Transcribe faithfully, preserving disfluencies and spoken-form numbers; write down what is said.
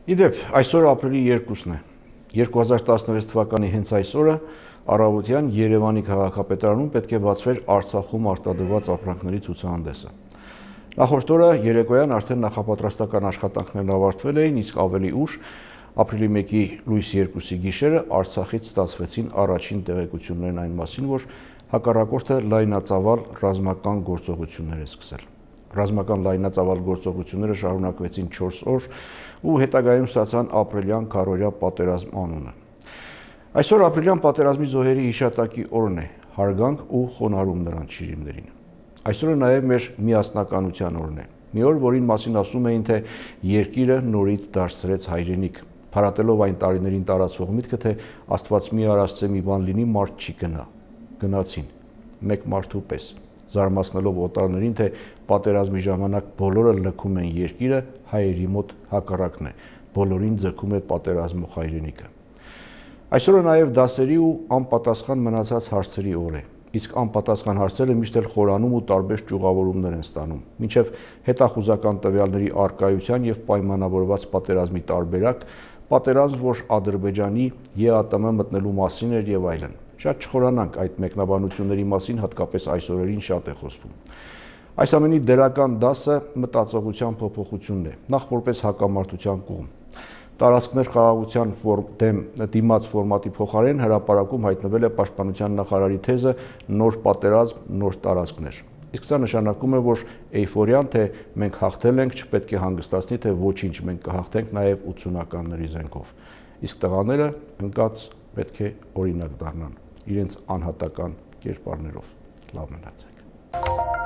Իդեպ, այսօր ապրիլի երկուսն է, երկու հազար տասնվեց թվականի հենց այս օրը առավոտյան Երևանի քաղաքապետարանում պետք է բացվեր Արցախում արտադրված ապրանքների ցուցահանդեսը։ Նախորդ օրը երեկոյան արդեն նախապատրաստական աշխատանքներն ավարտվել էին, իսկ ավելի ուշ ապրիլի մեկի լույս երկուսի գիշերը Արցախից ստացվեցին առաջին տեղեկություններն այն մասին, որ հակառակորդը լայնածավալ ռազմական գործողություններ է սկսել։ Ռազմական լայնածավալ գործողությունները շարունակվեցին չորս օր ու հետագայում ստացան ապրիլյան քարոզիա պատերազմ անունը։ Այսօր ապրիլյան պատերազմի զոհերի հիշատակի օրն է, հարգանք ու խոնարհում նրանց շիրիմներին։ Այսօրը նաև մեր միասնականության օրն է, մի օր, որին մասին ասում էին, թե երկիրը նորից դարձրեց հայրենիք, փարատելով այն տարիներին տարածվող միտքը, թե Աստված մի արասցե մի բան լինի, մարդ չի գնա, գնացին, մեկ մարդու պես, զարմացնելով օտարներին, թե պատերազմի ժամանակ բոլորը լքում են երկիրը, հայերի մոտ հակառակն է, բոլորին ձգում է պատերազմող հայրենիքը։ Այսօրը նաև դասերի ու անպատասխան մնացած հարցերի օր է, իսկ անպատասխան հարցերը միշտ էլ խորանում ու տարբեր ճյուղավորումներ են ստանում, մինչև հետախուզական տվյալների առկայության և պայմանավորված պատերազմի տարբերակ, պատերազմ, որ Ադրբեջանի ԵԱՏՄ մտնելու մասին էր և այլն։ Շատ չխորանանք այդ մեկնաբանությունների մասին, հատկապես այս օրերին շատ է խոսվում։ Այս ամենի դրական դասը մտածողության փոփոխությունն է, նախ որպես հակամարտության կողմ։ Տարածքներ խաղաղության դեմ դիմաց ֆորմատի փոխարեն հրապարակում հայտնվել է պաշտպանության նախարարի թեզը նոր պատերազմ, նոր տարածքներ։ Իսկ սա նշանակում է, որ էյֆորիան, թե մենք հաղթել ենք, չպետք է հանգստացնի, թե ոչինչ, մենք կհաղթենք նաև ութսունականների զենքով։ Իսկ տղաները ընկած պետք է օրինակ դառնան իրենց անհատական կերպարներով։ Լավ մնացեք։